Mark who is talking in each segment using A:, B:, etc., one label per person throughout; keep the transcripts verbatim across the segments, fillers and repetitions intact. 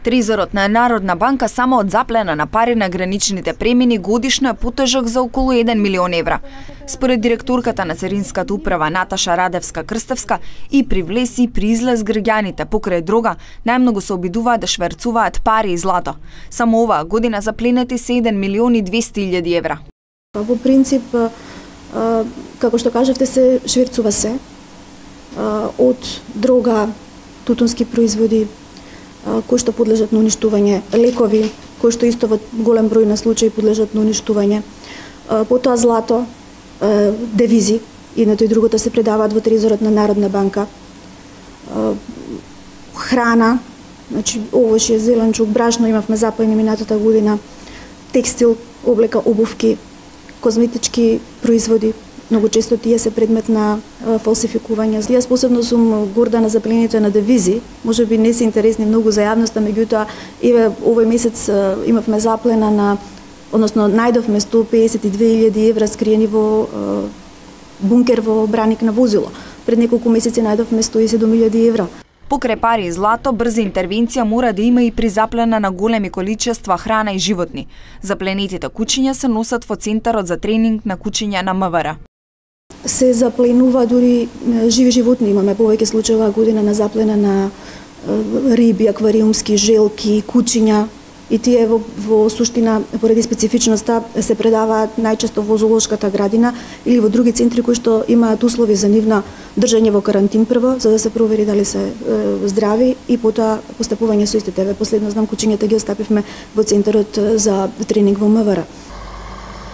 A: Трезорот на Народна банка само од заплена на пари на граничните премини годишно е потежок за околу еден милион евра. Според директорката на Царинската управа Наташа Радевска-Крстевска, и при влез и при излез граѓаните покрај дрога најмногу се обидуваат да шверцуваат пари и злато. Само оваа година запленети се еден милион и двесте илјади евра.
B: Во принцип, како што кажавте, се шверцува се од дрога, тутунски производи, кои што подлежат на уништување, лекови, кои што исто во голем број на случаи подлежат на уништување, потоа злато, девизи, едното и другото се предаваат во трезорот на Народна банка, храна, значи овошје, зеленчук, брашно имавме заплени минатата година, текстил, облека, обувки, козметички производи. Многу често тие се предмет на фалсификување. Јас посебно сум горда на заплените на девизи. Може би не се интересни многу за јавноста, меѓутоа еве овој месец имавме заплена на, односно најдовме сто песет и две илјади евра скриени во бункер во браник на возило. Пред неколку месеци најдовме сто и седум илјади евра.
A: Покрај пари и злато, брза интервенција мора да има и при заплена на големи количества храна и животни. Запленетите кучиња се носат во Центарот за тренинг на кучиња на М В Р.
B: Се запленува дури живи животни. Имаме повеќе случаи оваа година на заплена на риби, аквариумски, желки, кучиња. И тие во, во суштина, поради специфичноста, се предаваат најчесто во зоолошката градина или во други центри кои што имаат услови за нивно држање во карантин прво, за да се провери дали се е, здрави и потоа постапување со истите. Последно знам кучињата ги остапивме во Центарот за тренинг во М В Р.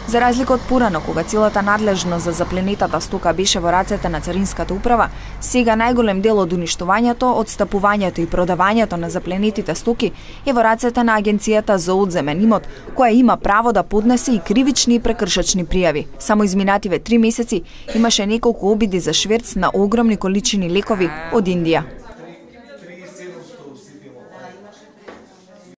A: За разлика од порано, кога целата надлежност за запленетата стока беше во рацете на Царинската управа, сега најголем дел од уништувањето, одстапувањето и продавањето на запленетите стоки е во рацете на Агенцијата за одземен имот, која има право да поднесе и кривични и прекршачни пријави. Само изминативе три месеци имаше неколку обиди за шверц на огромни количини лекови од Индија.